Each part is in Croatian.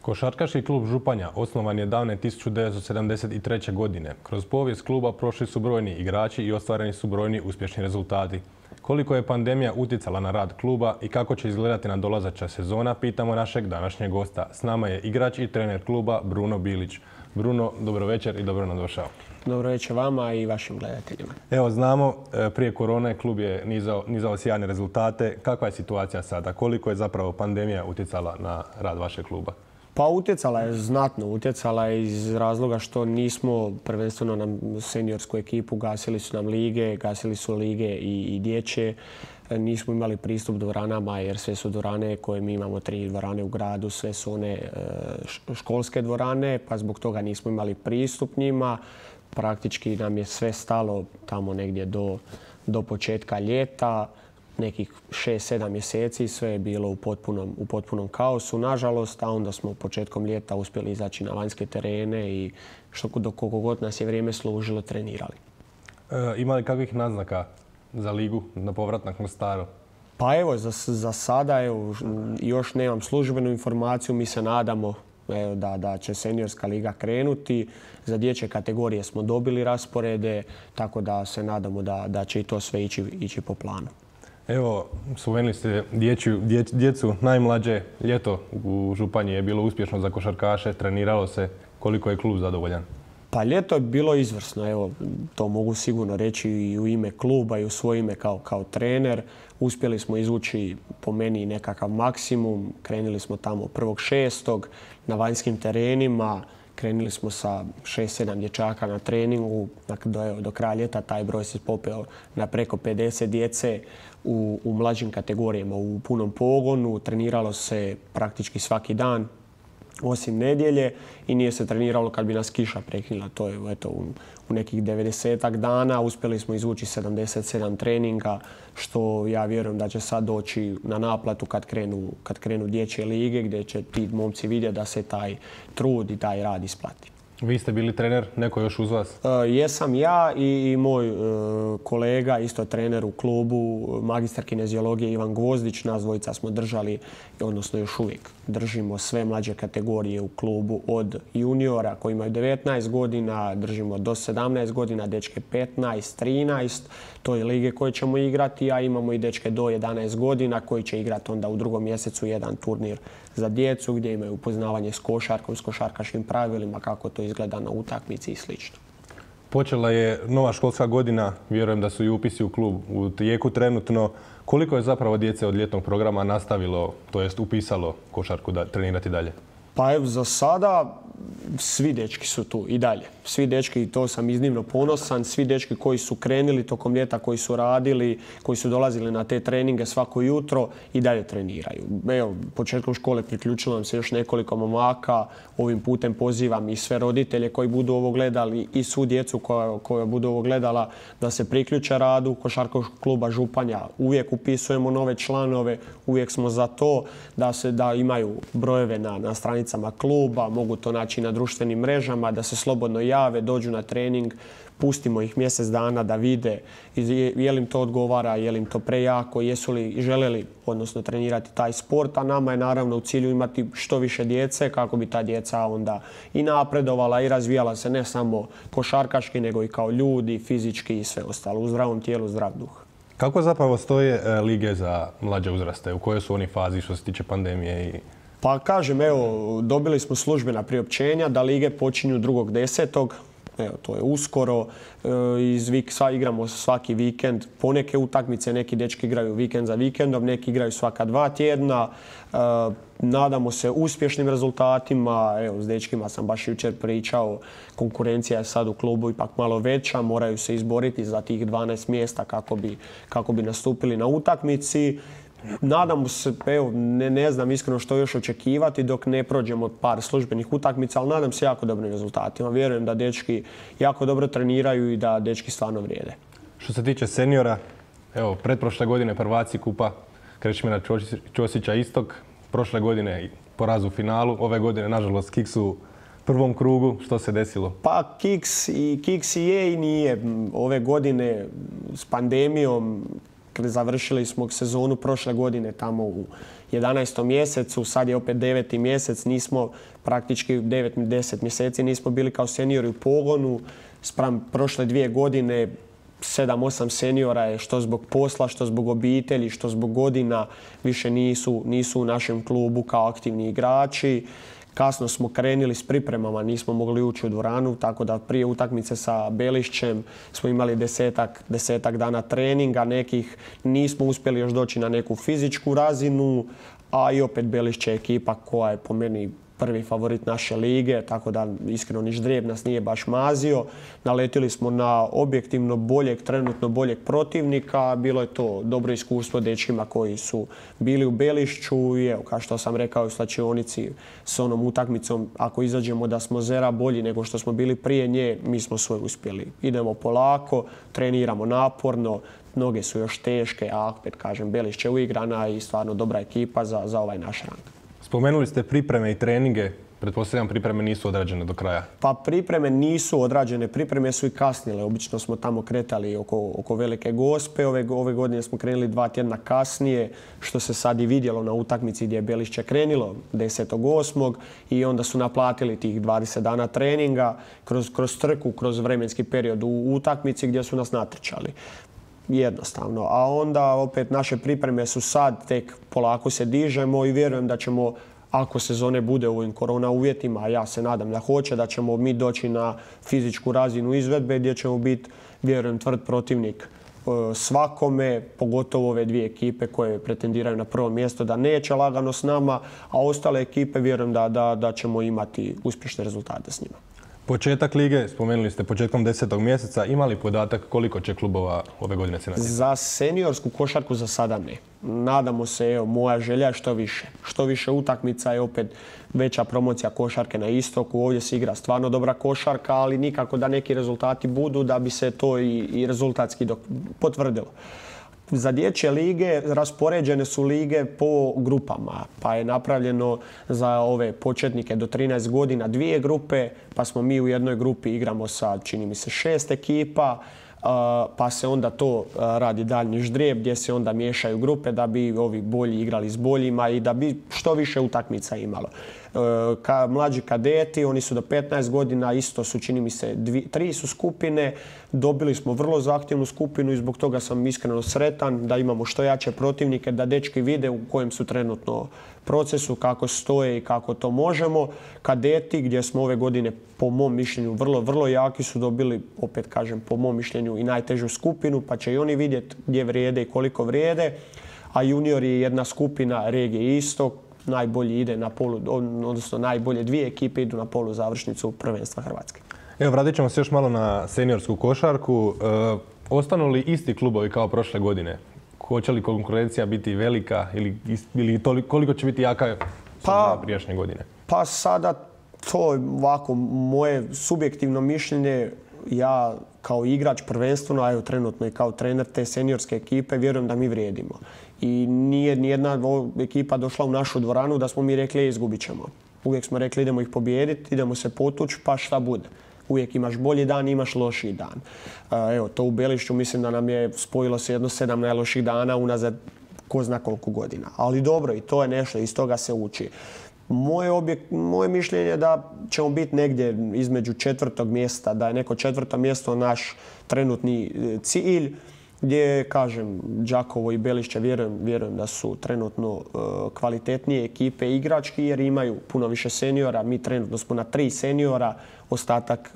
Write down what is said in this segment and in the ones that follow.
Košarkaški klub Županja osnovan je davne 1973. godine. Kroz povijest kluba prošli su brojni igrači i ostvareni su brojni uspješni rezultati. Koliko je pandemija utjecala na rad kluba i kako će izgledati nadolazeća sezona, pitamo našeg današnjeg gosta. S nama je igrač i trener kluba Bruno Bilić. Bruno, dobro večer i dobro nam došao. Dobro večer vama i vašim gledateljima. Evo, znamo, prije korone klub je nizao sjajne rezultate. Kakva je situacija sada? Koliko je zapravo pandemija utjecala na rad vašeg kluba? Pa utjecala je, znatno utjecala je iz razloga što nismo prvenstveno nam seniorsku ekipu, gasili su nam lige, gasili su lige i dječje. Nismo imali pristup dvoranama jer sve su dvorane koje mi imamo, 3 dvorane u gradu, sve su one školske dvorane, pa zbog toga nismo imali pristup njima. Praktički nam je sve stalo tamo negdje do početka ljeta. Nekih 6-7 mjeseci sve je bilo u potpunom kaosu, nažalost, a onda smo početkom ljeta uspjeli izaći na vanjske terene i koliko god nas je vrijeme služilo, trenirali. Ima li kakvih naznaka za ligu na povratak na staro? Pa evo, za sada još nemam službenu informaciju, mi se nadamo da će seniorska liga krenuti. Za dječje kategorije smo dobili rasporede, tako da se nadamo da će i to sve ići po planu. Evo, spomenuli ste djecu, najmlađe ljeto u Županji je bilo uspješno za košarkaše, treniralo se. Koliko je klub zadovoljan? Pa ljeto je bilo izvrsno, evo, to mogu sigurno reći i u ime kluba i u svoje ime kao trener. Uspjeli smo izvući po meni nekakav maksimum, krenuli smo tamo 1.6. na vanjskim terenima. Krenuli smo sa 6-7 dječaka na treningu. Do kraja ljeta taj broj se popeo na preko 50 djece u mlađim kategorijama u punom pogonu. Treniralo se praktički svaki dan, osim nedjelje, i nije se treniralo kad bi nas kiša prekinula. To je u nekih 90-ak dana. Uspjeli smo izvući 77 treninga, što ja vjerujem da će sad doći na naplatu kad krenu dječje lige, gdje će ti momci vidjeti da se taj trud i taj rad isplati. Vi ste bili trener, neko još uz vas? Jesam ja i moj kolega, isto trener u klubu, magistar kineziologije Ivan Gvozdić. Nas dvojica smo držali, odnosno još uvijek držimo sve mlađe kategorije u klubu, od juniora koji imaju 19 godina, držimo do 17 godina, dečke 15, 13. To je lige koje ćemo igrati, a imamo i dečke do 11 godina koji će igrati onda u 2. mjesecu jedan turnir za djecu gdje imaju upoznavanje s košarkom, s košarkaškim pravilima, kako to izgleda na utakmici i sl. Počela je nova školska godina, vjerujem da su i upisi u klub u tijeku trenutno. Koliko je zapravo djece od ljetnog programa nastavilo, to jest upisalo košarku trenirati dalje? Pa evo, za sada svi dečki su tu i dalje. Svi dečki, i to sam iznimno ponosan, svi dečki koji su krenuli tokom ljeta, koji su radili, koji su dolazili na te treninge svako jutro, i dalje treniraju. Evo, početkom škole priključilo nam se još nekoliko momaka. Ovim putem pozivam i sve roditelje koji budu ovo gledali i svu djecu koja budu ovo gledala da se priključe radu Košarkaškog kluba Županja. Uvijek upisujemo nove članove, uvijek smo za to da imaju brojeve na stranicama kluba, mogu to naći na društvenim mrežama, da se slobodno jave, dođu na trening, pustimo ih mjesec dana da vide je li im to odgovara, je li im to prejako, jesu li želeli, odnosno trenirati taj sport, a nama je naravno u cilju imati što više djece kako bi ta djeca onda i napredovala i razvijala se ne samo košarkaški, nego i kao ljudi, fizički i sve ostalo, u zdravom tijelu, zdrav duh. Kako zapravo stoje lige za mlađe uzraste? U kojoj su oni fazi što se tiče pandemije? Pa kažem, evo, dobili smo službena priopćenja da lige počinju 2.10. Evo, to je uskoro. Igramo svaki vikend. Poneke utakmice, neki dečki igraju vikend za vikendom, neki igraju svaka 2 tjedna. Nadamo se uspješnim rezultatima. Evo, s dečkima sam baš jučer pričao. Konkurencija je sad u klubu ipak malo veća. Moraju se izboriti za tih 12 mjesta kako bi nastupili na utakmici. Nadamo se, evo, ne znam iskreno što još očekivati dok ne prođemo par službenih utakmica, ali nadam se jako dobrim rezultatima. Vjerujem da dečki jako dobro treniraju i da dečki stvarno vrijede. Što se tiče seniora, evo, pretprošle godine prvaci kupa Krešimira Ćosića Istok, prošle godine poraz u finalu, ove godine nažalost Kiks u prvom krugu. Što se desilo? Pa Kiks i je i nije. Ove godine s pandemijom Završili smo sezonu prošle godine tamo u 11. mjesecu, sad je opet 9. mjesec, nismo praktički 9-10 mjeseci nismo bili kao seniori u pogonu. Spram prošle 2 godine 7-8 seniora je što zbog posla, što zbog obitelji, što zbog godina više nisu u našem klubu kao aktivni igrači. Kasno smo krenuli s pripremama, nismo mogli ući u dvoranu, tako da prije utakmice sa Belišćem smo imali desetak dana treninga, nekih nismo uspjeli još doći na neku fizičku razinu, a i opet Belišće je ekipa koja je po meni prvi favorit naše lige, tako da iskreno ni ždrijeb nas nije baš mazio. Naletili smo na objektivno trenutno boljeg protivnika. Bilo je to dobro iskustvo dečkima koji su bili u Belišću i evo, kao što sam rekao u slačionici s onom utakmicom, ako izađemo da smo zera bolji nego što smo bili prije nje, mi smo sve uspjeli. Idemo polako, treniramo naporno, noge su još teške, a opet kažem, Belišće je uigrana i stvarno dobra ekipa za ovaj naš rang. Spomenuli ste pripreme i treninge. Pretpostavljam pripreme nisu odrađene do kraja. Pa pripreme nisu odrađene, pripreme su i kasnile. Obično smo tamo kretali oko Velike Gospe. Ove godine smo krenuli 2 tjedna kasnije, što se sad i vidjelo na utakmici gdje je Belišće krenilo 10.8. i onda su naplatili tih 20 dana treninga kroz trku, kroz vremenski period u utakmici gdje su nas natrčali. Jednostavno. A onda opet naše pripreme su sad, tek polako se dižemo i vjerujem da ćemo, ako sezone bude u ovim korona uvjetima, a ja se nadam da hoće, da ćemo mi doći na fizičku razinu izvedbe gdje ćemo biti, vjerujem, tvrd protivnik svakome, pogotovo ove 2 ekipe koje pretendiraju na prvo mjesto, da neće lagano s nama, a ostale ekipe vjerujem da ćemo imati uspješne rezultate s njima. Početak lige, spomenuli ste početkom 10. mjeseca, ima li podatak koliko će klubova ove godine se natjecati? Za seniorsku košarku za sada ne. Nadamo se, evo, moja želja je što više. Što više utakmica je opet veća promocija košarke na istoku. Ovdje se igra stvarno dobra košarka, ali nikako da neki rezultati budu da bi se to i rezultatski potvrdilo. Za dječje lige raspoređene su lige po grupama, pa je napravljeno za ove početnike do 13 godina 2 grupe, pa smo mi u jednoj grupi igramo sa, čini mi se, 6 ekipa, pa se onda to radi daljnji ždrijeb gdje se onda miješaju grupe da bi ovi bolji igrali s boljima i da bi što više utakmica imalo. Mlađi kadeti, oni su do 15 godina, isto su, čini mi se, 3 su skupine. Dobili smo vrlo zahtjevnu skupinu i zbog toga sam iskreno sretan da imamo što jače protivnike, da dečki vide u kojem su trenutno procesu, kako stoje i kako to možemo. Kadeti, gdje smo ove godine, po mom mišljenju, vrlo jaki, su dobili, opet kažem, po mom mišljenju i najtežu skupinu, pa će i oni vidjeti gdje vrijede i koliko vrijede. A juniori je jedna skupina regije Istok, najbolji ide na polu, odnosno najbolje 2 ekipe idu na polu završnicu prvenstva Hrvatske. Evo, vratit ćemo se još malo na seniorsku košarku. Ostanu li isti klubovi kao prošle godine? Hoće li konkurencija biti velika ili koliko će biti jaka prijašnje godine? Pa sada to je ovako moje subjektivno mišljenje. Ja kao igrač prvenstveno, a evo trenutno i kao trener te seniorske ekipe, vjerujem da mi vrijedimo. I nije nijedna ekipa došla u našu dvoranu da smo mi rekli izgubit ćemo. Uvijek smo rekli idemo ih pobijediti, idemo se potući, pa šta bude. Uvijek imaš bolji dan, imaš lošiji dan. Evo, to u Belišću mislim da nam je spojilo se jedno 7 najloših dana unazad ko zna koliko godina. Ali dobro, i to je nešto, iz toga se uči. Moje mišljenje je da ćemo biti negdje između 4. mjesta, da je neko 4. mjesto naš trenutni cilj, gdje, kažem, Đakovo i Belišće vjerujem da su trenutno kvalitetnije ekipe igrački jer imaju puno više seniora. Mi trenutno smo na 3 seniora, ostatak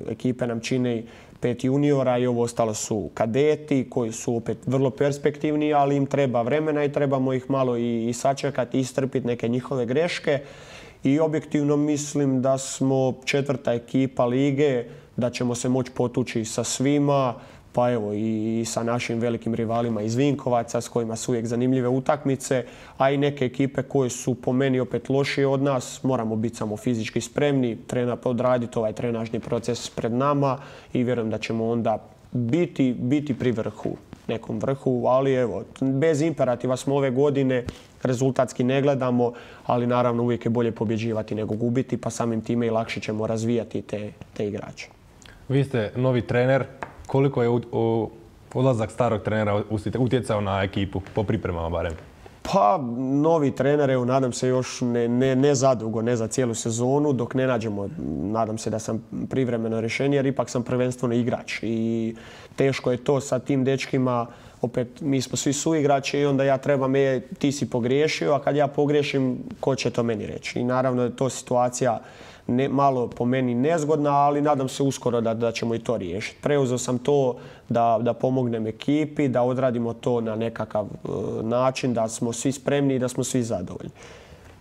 ekipe nam čine 5 juniora i ovo ostalo su kadeti koji su opet vrlo perspektivni, ali im treba vremena i trebamo ih malo i sačekati, istrpiti neke njihove greške. I objektivno mislim da smo 4. ekipa lige, da ćemo se moći potući sa svima, pa evo i sa našim velikim rivalima iz Vinkovaca s kojima su uvijek zanimljive utakmice, a i neke ekipe koje su po meni opet lošije od nas. Moramo biti samo fizički spremni, odraditi ovaj trenažni proces pred nama i vjerujem da ćemo onda biti pri vrhu, nekom vrhu, ali evo, bez imperativa smo ove godine, rezultatski ne gledamo, ali naravno uvijek je bolje pobjeđivati nego gubiti, pa samim time i lakše ćemo razvijati te igrače. Vi ste novi trener. Koliko je odlazak starog trenera utjecao na ekipu, po pripremama barem? Pa, novi trener, evo, nadam se još ne zadugo, ne za cijelu sezonu, dok ne nađemo, nadam se da sam privremeno rješenje, jer ipak sam prvenstveno igrač. I teško je to sa tim dečkima, opet mi smo svi suigrači i onda ja trebam, ti si pogriješio, a kad ja pogriješim, ko će to meni reći? I naravno je to situacija malo po meni nezgodna, ali nadam se uskoro da ćemo i to riješiti. Preuzeo sam to da pomognem ekipi, da odradimo to na nekakav način, da smo svi spremni i da smo svi zadovoljni.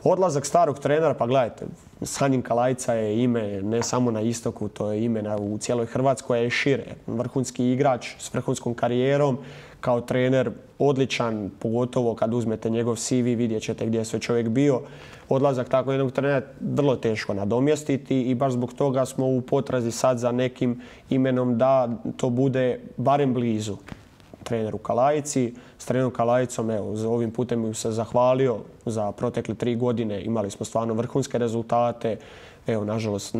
Odlazak starog trenera, pa gledajte, Sanjin Kalajica je ime ne samo na istoku, to je ime u cijeloj Hrvatskoj, je šire. Vrhunski igrač s vrhunskom karijerom, kao trener odličan, pogotovo kad uzmete njegov CV, vidjet ćete gdje je sve čovjek bio. Odlazak tako jednog trenera je vrlo teško nadomjestiti i baš zbog toga smo u potrazi sad za nekim imenom da to bude barem blizu treneru Kalajici. S trenerom Kalajicom, evo, ovim putem bih se zahvalio za protekle 3 godine. Imali smo stvarno vrhunske rezultate. Evo, nažalost,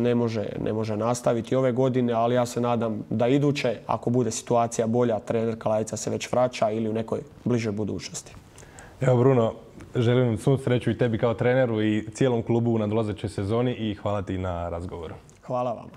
ne može nastaviti ove godine, ali ja se nadam da iduće, ako bude situacija bolja, trener Kalajica se već vraća ili u nekoj bližoj budućnosti. Evo, Bruno, želim svu sreću i tebi kao treneru i cijelom klubu u nadolazećoj sezoni i hvala ti na razgovoru. Hvala vama.